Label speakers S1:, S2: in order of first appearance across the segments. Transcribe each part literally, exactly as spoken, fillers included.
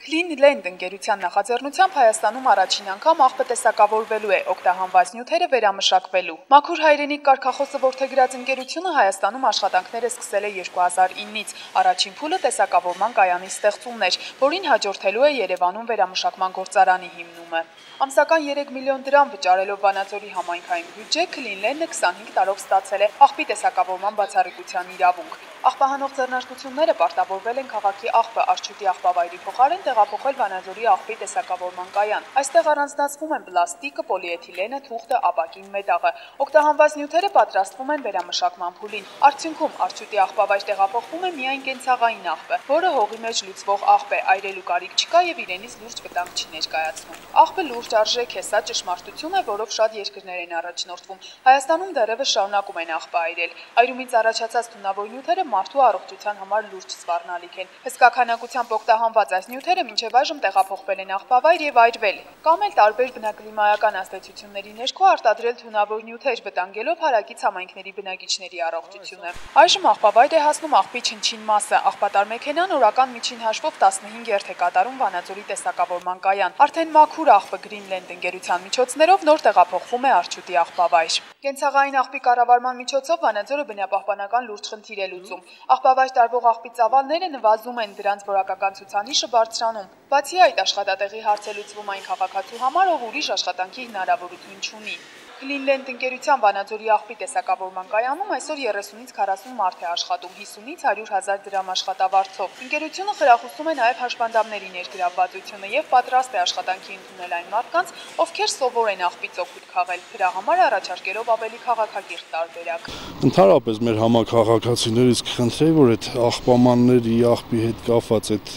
S1: Clean Land ընկերության նախաձեռնությամբ Հայաստանում առաջին անգամ աղբը տեսակավորվելու է, օգտահանված նյութերը վերամշակվելու։ Մաքուր հայրենիք կարգախոսը որդեգրած ընկերությունը Հայաստանում աշխատանքները սկսել է երկու հազար իննից։ Առաջին փուլը տեսակավորման կայանի ստեղծումն էր, որին հաջորդելու է Երևանում վերամշակման գործարանի հիմնումը։ Ամսական երեք միլիոն դրամ վճարելով Վանաձորի համայնքային բյուջե, Clean Land-ը քսանհինգ տարով ստացել է աղբի տեսակավորման բացառիկության իրավունք։ Աղբահանող ձեռնարկությունները պարտավորվել են քաղաքի աղբը Աշչուտի աղբավայրի փոխարեն տեղափոխել Վանաձորի աղբի տեսակավորման կայան։ Այստեղ առանձնացվում են պլաստիկը, պոլիէթիլենը, թուղթը, ապակին մետաղը։ Օգտահանված նյութերը պատրաստվում են վերամշակման փուլին։ Արդյունքում Աշչուտի աղբավայր տեղափոխվում է միայն կենցաղային աղբը, որը հողի մեջ լուծվող աղբ է, այրելու կարիք չկա եւ իրենից լուրջ վտանգ չի ներկայացնում։ Աղբը լուրջ արժեք է, սա ճշմարտություն է, որով շատ երկրներ են առաջնորդվում։ Հայաստանում դեռևս շարունակում են աղբը այրել։ Այրումից առաջացած թունավոր նյութերը մարդու առողջության համար լուրջ սպառնալիք են։ Հսկա քանակությամբ օգտահանված այս նյութերը մինչև այժմ տեղափոխվել են աղբավայր եւ այրվել, կամ էլ տարբեր բնակլիմայական ազդեցությունների ներքո արտադրել թունավոր նյութեր, վտանգելով հարակից համայնքների բնակիչների առողջությունը։ Այժմ աղբավայր է հասնում աղբի չնչին մասը։ Աղբատար մեքենան օրական միջին հաշվով տասնհինգ երթ է կատարում Վանաձորի տեսակավորման կայան։ Արդեն մաքուր աղբը Green Land ընկերության միջոցներով նոր տեղափոխվում է Աշչուտի աղբավայր։ Կենցաղային աղբի կառավարման միջոցով Վանաձորը բնապահպանական լուրջ խնդիր է լուծում։ Աղբավայր տարվող աղբի ծավալները նվազում են, դրանց որակական ցուցանիշը բարձրանում։ Բացի այդ, աշխատատեղի հարց է լուծվում այն քաղաքացու համար, ով ուրիշ աշխատանքի հնարավորություն չունի։ Clean Land ընկերության Վանաձորի աղբի տեսակավորման կայանում այսօր երեսունից քառասուն մարդ է աշխատում, հիսունից հարյուր հազար դրամ աշխատավարձով։ Ընկերությունը խրախուսում է նաև հաշվանդամների ներգրավվածությունը եւ պատրաստ է աշխատանքի ընդունել այն մարդկանց, ովքեր սովոր են աղբից օգուտ քաղել, դրա համար առաջարկելով ավելի քաղաքակիրթ տարբերակ։
S2: Ընդհանրապես մեր համակարգացիներից կխնդրեի, որ այդ աղբամանների աղբի հետ կապված այդ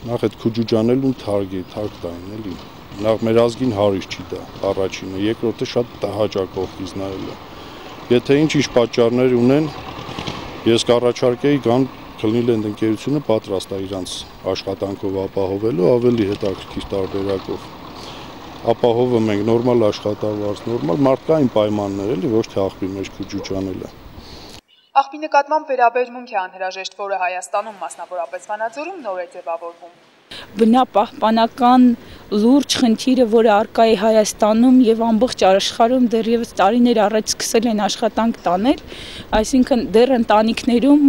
S2: նախ այդ քուջուջանելուն թարգի, թարգ տային էլի։ Նախ մեր ազգին հարիշ չի դա առաջինը, երկրորդը շատ հաճախ նայել է։ Եթե ինչ-ինչ պատճառներ ունեն, ես կառաջարկեի կան Clean Land ընկերությունը պատրաստ է իրանց աշխատանքով ապահովելու ավելի հետաքրքիր տարբերակով։ Ապահովում ենք նորմալ աշխատավարձ, նորմալ մարդկային պայմաններ էլի, ոչ թե աղբի մեջ քուջուջանելը։
S1: Աղբի նկատմամբ վերաբերմունք է անհրաժեշտ, որը Հայաստանում, մասնավորապես Վանաձորում, նոր է ձևավորվում։
S3: Բնապահպանական լուրջ խնդիրը, որը առկա է Հայաստանում եւ ամբողջ աշխարհում դեռևս տարիներ առաջ սկսել են աշխատանք տանել, այսինքն դեռ ընտանիքներում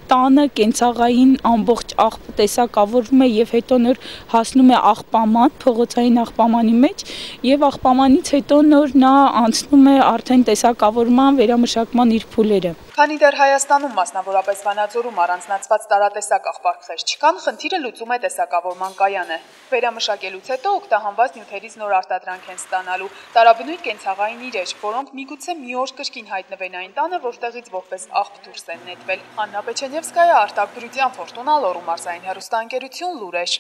S3: տանը կենցաղային ամբողջ աղբը տեսակավորվում է եւ հետո նոր հասնում է աղբաման, փողոցային աղբամանի մեջ եւ աղբամանից հետո նոր նա անցնում է արդեն տեսակավորման, վերամշակման իր փուլերը։
S1: Քանի դեռ Հայաստանում, մասնավորապես Վանաձորում առանձնացված տարատեսակ աղբարկղեր չկան, խնդիրը լուծում է տեսակավորման կայանը։ Վերամշակելուց հետո օգտահանված նյութերից նոր արտադրանք են ստանալու տարաբնույթ կենցաղային իրեր, որոնք միգուցե մի օր կրկին հայտնվեն այն տանը, որտեղից որպես աղբ դուրս են նետվել։ Աննա Պեչենևսկայա, Արտակ Բրուտյան, Ֆորտունա, Լոռու մարզային հեռուստաընկերություն, Լուրեր։